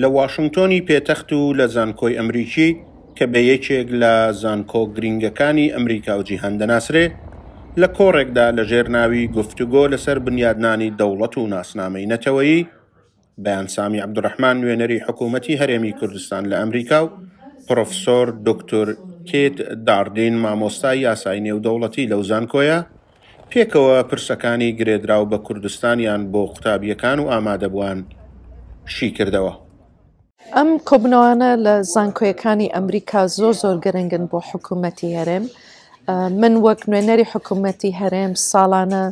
لە واشنگتۆنی پێتەخت و لە زانکۆی ئەمریکی کە بە یەکێک لە زانکۆ گرینگەکانی ئەمریکا و جیهان دەناسرێ، لە کۆڕێکدا لە ژێر ناوی گفتوگۆ لەسەر بنیادنانی دەوڵەت و ناسنامەی نەتەوەیی، بەیان سامی عەبدولڕەحمان نوێنەری حکوومەتی هەرێمی کوردستان لە ئەمریکا و پڕۆفسۆر دوکتور کیت داردین مامۆستای یاسای نێودەوڵەتی لەو زانکۆیە پێکەوە پرسەکانی گرێدراو بە کوردستانیان بۆ قوتابییەکان و ئامادەبووان شیکردەوە. ئەم کۆبنەوانە لە زانکۆیەکانی ئەمریکا زۆر زۆر گرنگن بۆ حکوومەتی هەرێم. من وەک نوێنەری حکوومەتی هەرێم ساڵانە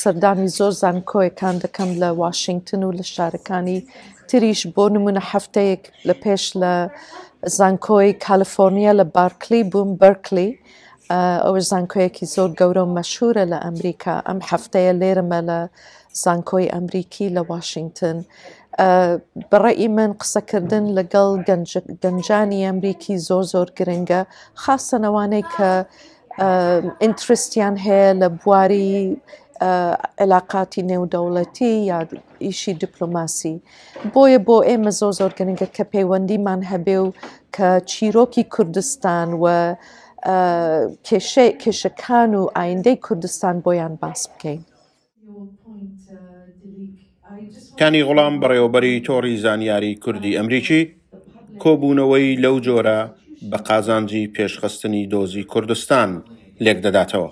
سەردانی زۆر زانکۆیەکان دەکەم لە واشنگتن و لە شارەکانی تریش بۆ نمونە هەفتەیەک لە پێش لە زانکۆی کالیفۆرنیا لە بارکلی بووم بەرکلی ئەوەش زانکۆیەکی زۆر گەورە و مەشهورە لە ئەمریکا ئەم هەفتەیە لێرەمە لە زانکۆی ئەمریکی لە واشنگتن بەڕێی من قسەکردن لەگەڵ گەنجانی ئەمریکی زۆر زۆر گرنگە خاستەنەوانەی کە ئینترستیان هەیە لە بواری علاقاتی نێودەوڵەتی یا ئیشی دیپلۆماسی بۆیە بۆ ئێمە زۆر زۆر گرنگە کە پەیوەندیمان هەبێ و کە چیرۆکی کوردستان و کێشەکان و ئایندەی کوردستان بۆیان باس بکەین. کانی غوڵام بەڕێوەبەری تۆڕی زانیاری کوردی ئەمریکی کۆبوونەوەی لەو جۆرە بە قازانجی پێشخستنی دۆزی کوردستان لێکدەداتەوە.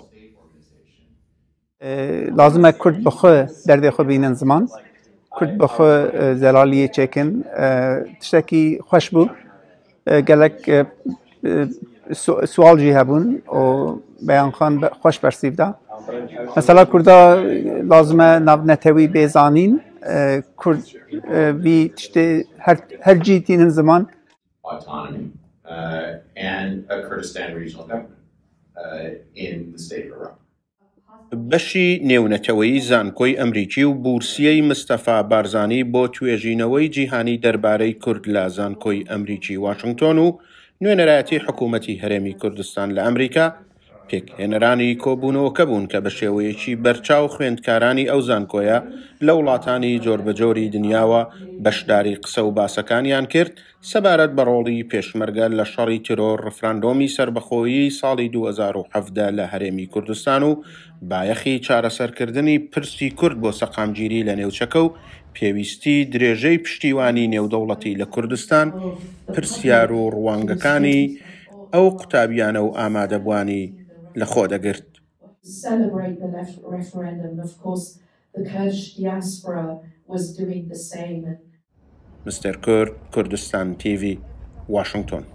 لازمە کورد بخۆ دەردێ خۆ بینن زمان کورد بخۆ زەلالیە چێکن تشتێکی خۆش بوو گەلک سوال ژی هەبوون و بەیان خان خۆش بەرسیفدا مەسەلا کوردا لازمە ناونەتەوی بێزانین کورد وی تشتێ هەرجی تینن زمان autonomy and a Kurdistan regional government in the state of Iraq. بەشی نێونەتەوەیی زانکۆی ئەمریکی و بورسیەی مستەفا بارزانی بۆ توێژینەوەی جیهانی دەربارەی کورد لە زانکۆی ئەمریکی واشنگتۆن و نوێنەرایەتی حکوومەتی هەرێمی کوردستان لە ئەمریکا پێکهێنەرانی کۆبوونەوەکە بوون کە بە شێوەیەکی بەرچاو خوێندکارانی ئەو زانکۆیە لە وڵاتانی جۆربەجۆری دنیاوە بەشداری قسە و باسەکانیان کرد سەبارەت بە ڕۆڵی پێشمەرگە لە شەڕی تیرۆر، ڕفراندۆمی سەربەخۆیی ساڵی 2017 لە هەرێمی کوردستان و بایەخی چارەسەرکردنی پرسی کورد بۆ سەقامگیری لە نێوچەکە و پێویستی درێژەی پشتیوانی نێودەوڵەتی لە کوردستان، پرسیار و ڕوانگەکانی ئەو قوتابیانە و ئامادەبووانی لەخۆدەگرت. مستەر کورد، کوردستان تیڤی، واشنگتۆن.